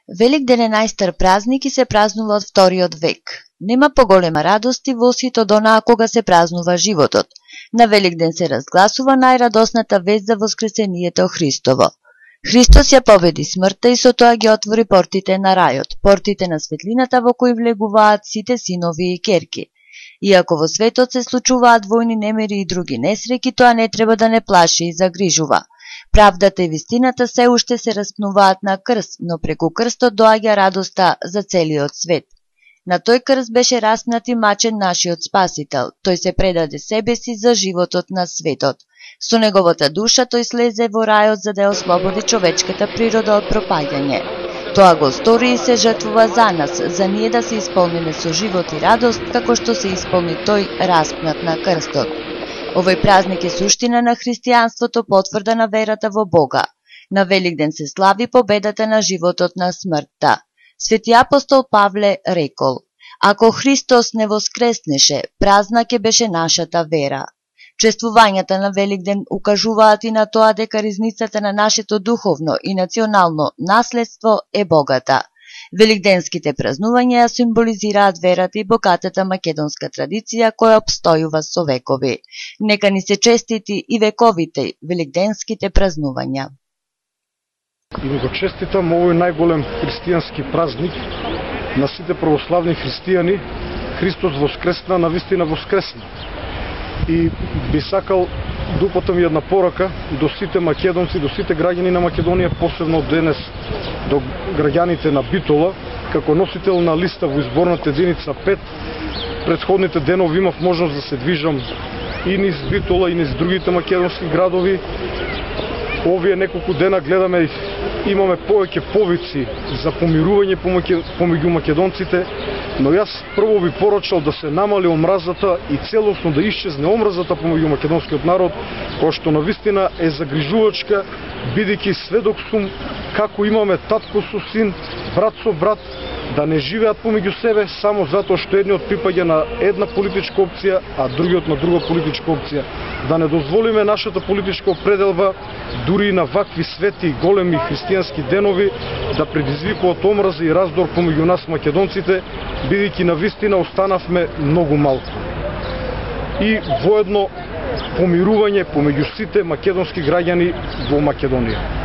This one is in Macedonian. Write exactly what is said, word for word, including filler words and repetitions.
Великден е најстар празник и се празнува од вториот век. Нема поголема радост и восит од онаа кога се празнува животот. На Великден се разгласува најрадосната вест за воскресението Христово. Христос ја победи смртта и со тоа ги отвори портите на рајот, портите на светлината во кои влегуваат сите синови и керки. Иако во светот се случуваат војни немири и други несреки, тоа не треба да не плаши и загрижува. Правдата и вистината се уште се распнуваат на крст, но преку крстот доаѓа радоста за целиот свет. На тој крст беше распнат и мачен нашиот Спасител. Тој се предаде себе си за животот на светот. Со неговата душа тој слезе во рајот за да ја ослободи човечката природа од пропаѓање. Тоа го стори и се жртвува за нас, за ние да се исполниме со живот и радост, како што се исполни тој распнат на крстот. Овој празник е суштина на христијанството, потврда на верата во Бога. На Великден се слави победата на животот на смртта. Свети апостол Павле рекол: ако Христос не воскреснеше, празна ќе беше нашата вера. Чествувањата на Великден укажуваат и на тоа дека ризницата на нашето духовно и национално наследство е богата. Великденските празнувања ја символизираат верата и богатата македонска традиција која обстојува со векови. Нека ни се честити и вековите великденските празнувања. И го честитам овој најголем христијански празник на сите православни христијани. Христос воскресна, навистина воскресна. И би сакал да упатам една порака до сите македонци, до сите граѓани на Македонија, посебно денес до граѓаните на Битола, како носител на листа во изборната единица пет. Претходните денови имав можност да се движам и низ Битола и низ другите македонски градови. Овие неколку дена гледаме, имаме повеќе повици за помирување помеѓу македонците, но јас прво би порачал да се намали омразата и целосно да исчезне омразата помеѓу македонскиот народ, која што навистина е загрижувачка, бидејќи сведок сум како имаме татко со син, брат со брат, да не живеат помеѓу себе само затоа што едниот припаѓа на една политичка опција, а другиот на друга политичка опција. Да не дозволиме нашата политичка определба, дури и на вакви свети и големи христијански денови, да предизвикуваат омраза и раздор помеѓу нас македонците, бидејќи навистина останавме многу малку. И воедно помирување помеѓу сите македонски граѓани во Македонија.